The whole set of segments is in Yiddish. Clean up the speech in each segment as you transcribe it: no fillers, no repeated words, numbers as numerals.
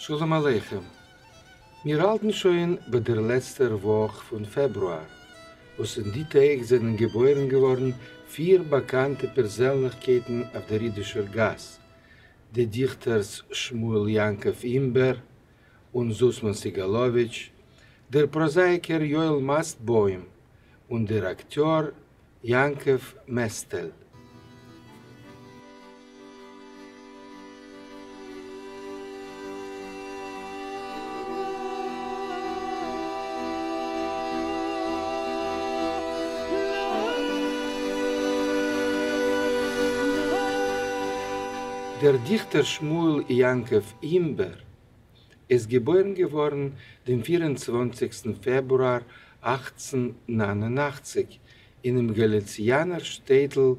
שלום עליכם. מיר האלטן שוין ביי דער לעצטער וואך פון פעברואר, וואס אין די טעג זענען געבוירן געווארן פיר באקאנטע פערזענליכקייטן אויף דער אידישער גאס, די דיכטערס שמואל יעקב אימבער און זוסמאן סעגאלאוויטש, דער פראזאייקער יואל מאסטבוים און דער אקטיאר יעקב מעסטעל. דער דיכטער שמואל יעקב אימבער איז געבוירן געווארן דעם פיר און צוואנציגסטן פעברואר 1889 אינעם גאליציאנער שטעטל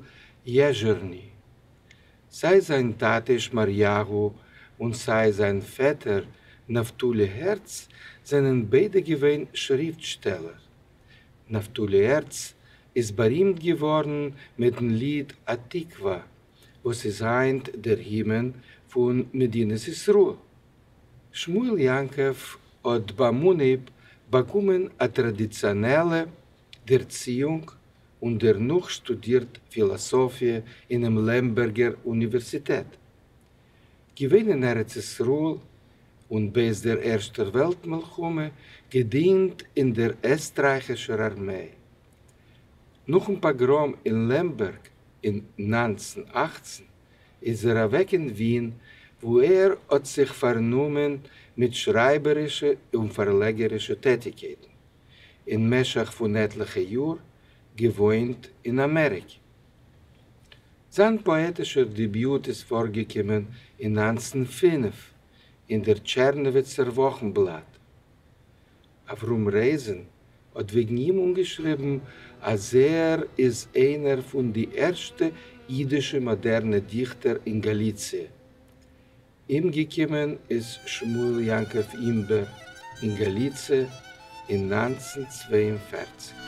יעזשערני. סיי זיין טאטע שמריהו און סיי זיין פעטער נפתלי הערץ זענען ביידע געווען שריפטשטעלער. נפתלי הערץ איז בארימט געווארן מיטן ליד התקווה וואס איז היינט דער הימען פון מדינת ישראל. שמואל יעקב האט ביים אנהייב באקומען א טראדיציאנעלע דערציאונג און דערנאך שטודירט פילאסאפיע אינעם לעמבערגער אוניווערסיטעט. געווען אין ארץ ישראל און בעת דער ערשטער וועלט מלחמה געדינט אין דער עסטרייכישער ארמיי. נאכן פאגראם אין לעמבערג אין 1918 איז ער אוועק אין ווין וואו ער האט זיך פארנומען מיט שרייבערישע און פארלעגערישע טעטיקייטן. אין משך פון עטליכע יאר געוואוינט אין אמעריקע. זיין פאעטישער דעביוט איז פארגעקומען אין 1905 אין דער טשערנאוויצער וואכנבלאט. אברהם רייזען האט וועגן אים אנגעשריבן אז ער איז איינער פון די ערשטע אידישע מאדערנע דיכטער אין גאליציע. אומגעקומען איז שמואל יעקב אימבער אין גאליציע אין 1942.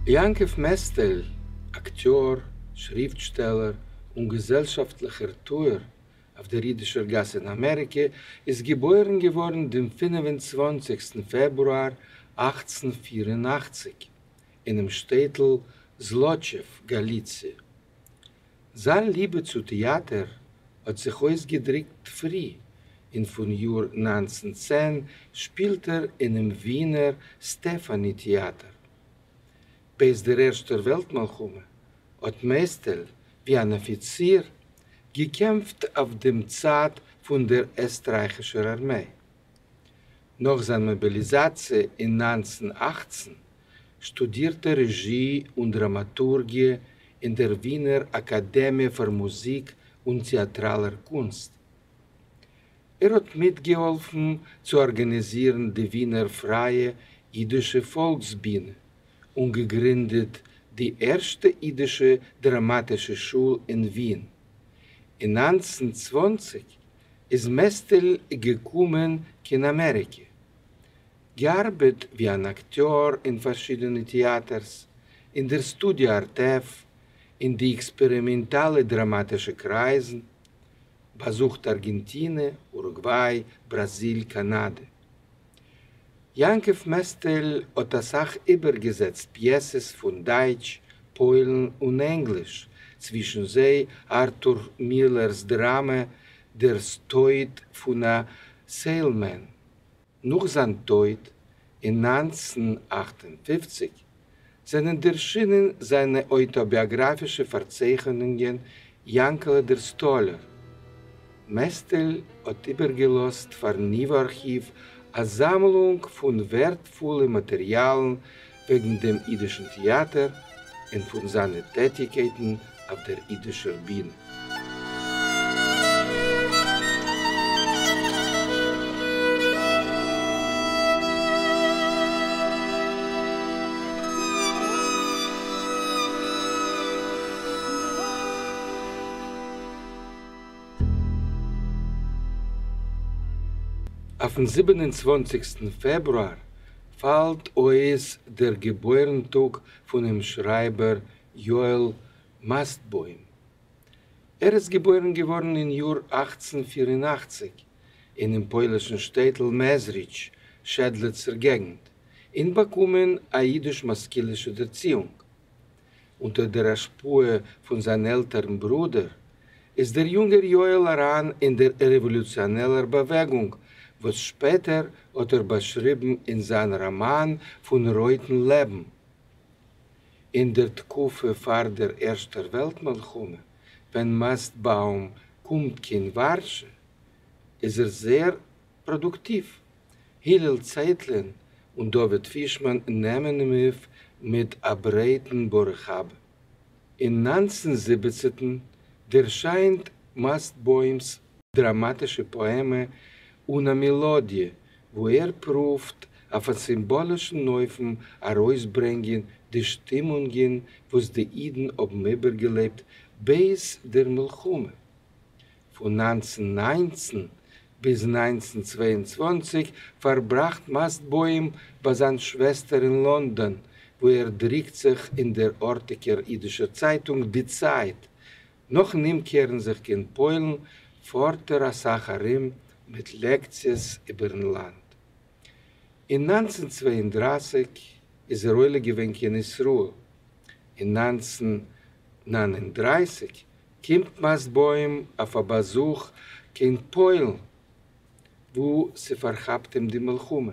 יעקב מעסטעל, אקטיאר, שריפטשטעלער און געזעלשאפטליכער טוער אויף דער אידישער גאס אין אמעריקע, איז געבוירן געווארן דעם פינף און צוואנציגסטן פעברואר 1884 אינעם שטעטל זלאטשעוו, גאליציע. זיין ליבע צו טעאטער האט זיך אויסגעדריקט פרי, און פון יאר 1910 שפילט ער אינעם ווינער סטעפאני טעאטער. בעת דער ערשטער וועלט מלחמה האט מעסטעל, ווי אן אפיציר, געקעמפט אויף דעם צד פון דער עסטרייכישער ארמיי. נאך זיין מאביליזאציע אין 1918 שטודירט ער רעזשי און דראמאטורגיע אין דער ווינער אקאדעמיע פאר מוזיק און טעאטראלער קונסט. ער האט מיטגעהאלפן צו ארגאניזירן די ווינער פרייע אידישע פאלקסבינע און געגרינדעט די ערשטע אידישע דראמאטישע שול אין ווין. אין 1920 איז מעסטעל געקומען קיין אמעריקע. געארבעט ווי אן אקטיאר אין פארשידענע טעאטערס, אין דער סטודיא ארטעף, אין די עקספערימענטאלע דראמאטישע קרייזן, באזוכט ארגענטינע, אורוגוויי, בראזיל, קאנאדע. יעקב מעסטעל האט אסאך איבערגעזעצט פיעסעס פון דייטש, פוילן און ענגליש, צווישן זיי ארטור מילער'ס דראמע דער טויט פון א סעילמען. נאך זיין טויט אין 1958 זענען ערשינען זיינע אויטאביאגראפישע פארצייכענונגען יענקעלע דער סטאלער. מעסטעל האט איבערגעלאזט פארן ייווא ארכיוו א זאמלונג פון ווערטפולע מאטעריאלן וועגן דעם אידישן טעאטער און פון זיינע טעטיקייטן אויף דער אידישער בינע. אויפן 27סטן פעברואר פאלט אויס דער געבוירן-טאג פונעם שרייבער יואל מאסטבוים. ער איז געבוירן געווארן אין יאר 1884 אינעם פוילישן שטעטל מעזריטש, שעדלעצער געגנט, און באקומען א אידיש-משכילישע דערציאונג. אונטער דער השפעה פון זיין עלטערן ברודער, איז דער יונגער יואל אריין אין דער רעוואלוציאנעלער באוועגונג, וואס שפעטער האט ער באשריבן אין זיין ראמאן פון רויטן לעבן. אין דער תקופה פאר דער ערשטער וועלט מלחמה, ווען מאסטבאום קומט קיין ווארשע, איז ער זייער פראדוקטיוו. הלל צייטלין און דוד פישמאן נעמען אים אויף מיט א ברייטן ברוך הבא. אין 1917 דערשיינט מאסטבוים'ס דראמאטישע פאעמע אן א מעלאדיע, וואו ער פרואווט אויף א סימבאלישן אופן ארויסברענגען די שטימונגען וואס די אידן האבן איבערגעלעבט בעת דער מלחמה. פון 1919 ביז 1922 פארבראכט מאסטבוים ביי זיין שוועסטער אין לאנדאן, וואו ער דריקט זיך אין דער ארטיגער אידישער צייטונג די צייט. נאכן אומקערן זיך קיין פוילן פארט ער אסאך ארום מיט לעקציעס איבערן לאנד. אין 1932 איז ער עולה געווען קיין ישראל. אין 1939 קומט מאסטבוים אויף א באזוך קיין פוילן, וואו ס'פארכאפט אים די מלחמה.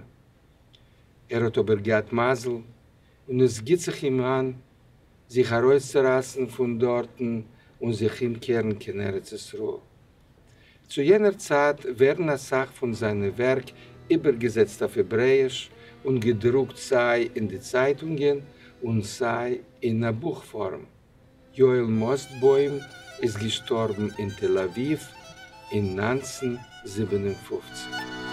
ער האט אבער געהאט מזל און עס גיט זיך אים איין זיך ארויסצורייסן פון דארטן און זיך אומקערן קיין ארץ ישראל. צו יענער צייט ווערן אסאך פון זיינע ווערק איבערגעזעצט אויף העברעאיש און געדרוקט סיי אין די צייטונגען און סיי אין א בוך פארם. יואל מאסטבוים איז געשטארבן אין תל אביב אין 1957.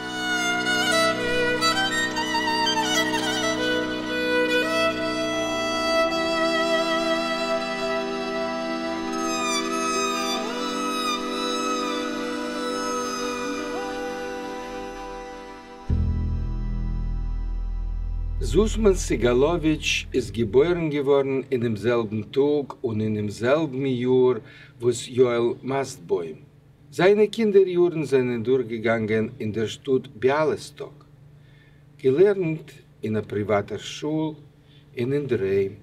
זוסמאן סעגאלאוויטש איז געבוירן געווארן אינעם זעלבן טאג און אינעם זעלבן יאר וואס יואל מאסטבוים. זיינע קינדער יארן זענען דורכגעגאנגען אין דער שטאט ביאליסטאק. געלערנט אין א פריוואטער שול און אינדערהיים.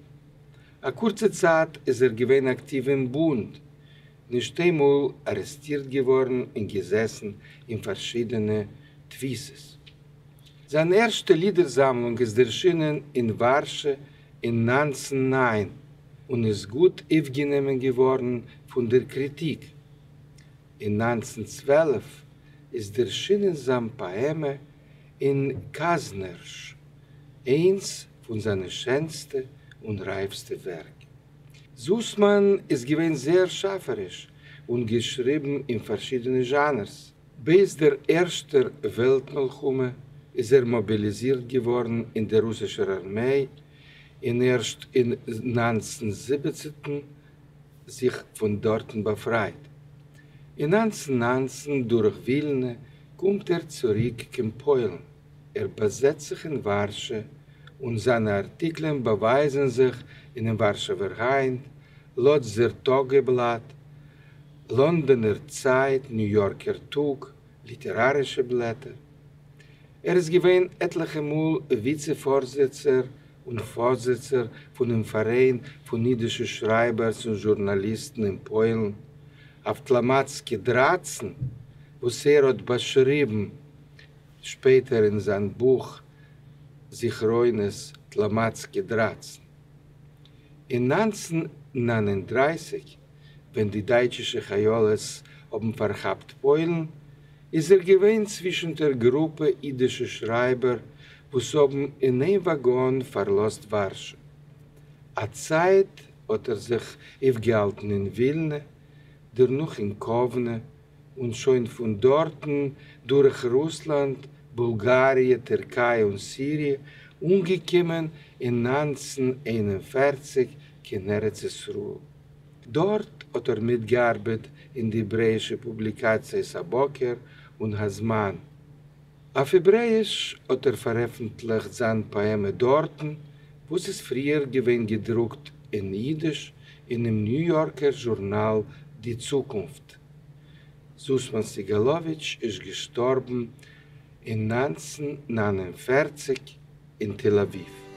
א קורצע צייט איז ער געווען אקטיוו אין בונד, נישט איינמאל ארעסטירט געווארן און געזעסן אין פארשידענע תפיסות. זיין ערשטע לידער-זאמלונג איז דערשינען אין ווארשע אין 1909 און איז גוט אויפגענומען געווארן פון דער קריטיק. אין 1912 איז דערשינען זיין פאעמע אין קאזנערש, איינס פון זיינע שענסטע און רייפסטע ווערק. זוסמאן איז געווען זייער שאפעריש און געשריבן אין פארשידענע זשאנערס. בעת דער ערשטער וועלט-מלחמה איז ער מאביליזירט געווארן אין דער רוסישער ארמיי און ערשט אין 1917 זיך פון דארטן באפרייט. אין 1919 דורך ווילנע קומט ער צוריק קיין פוילן. ער באזעצט זיך אין ווארשע און זיינע ארטיקלען באווייזן זיך אינעם ווארשעווער היינט, לאדזער טאגעבלאט, לאנדאנער צייט, ניו יארקער טאג, ליטערארישע בלעטער. ער איז געווען עטליכע מאל וויצע פארזיצער און פארזיצער פונעם פאראיין פון אידישע שרייבערס און זשורנאליסטן אין פוילן, אויף טלאמאצקע 13, וואס ער האט באשריבן שפעטער אין זיין בוך זכרונות טלאמאצקע 13. אין 1939, ווען די דייטשישע חיילות האבן פארכאפט פוילן, איז ער געווען צווישן דער גרופע אידישע שרייבער וואס האבן אין איין וואגאן פארלאזט ווארשע. א צייט האט ער זיך אויפגעהאלטן אין ווילנע, דערנאך אין קאוונע, און שוין פון דארטן דורך רוסלאנד, בולגאריע, טערקיי און סיריע, אנגעקומען אין 1941 קיין ארץ ישראל. דארט האט ער מיטגעארבעט אין די העברעאישע פובליקאציעס הבוקר און הזמן. אויף העברעיִש האָט ער פֿאַרעפֿנטלעכט זײַן פּאָעמע דאָרטן, וואָס איז פֿריִער געווען געדרוקט אין ייִדיש אינעם ניו-יאָרקער זשורנאַל די צוקונפֿט. זוסמאן סעגאלאוויטש איז געשטארבן אין 1949 אין תל אביב.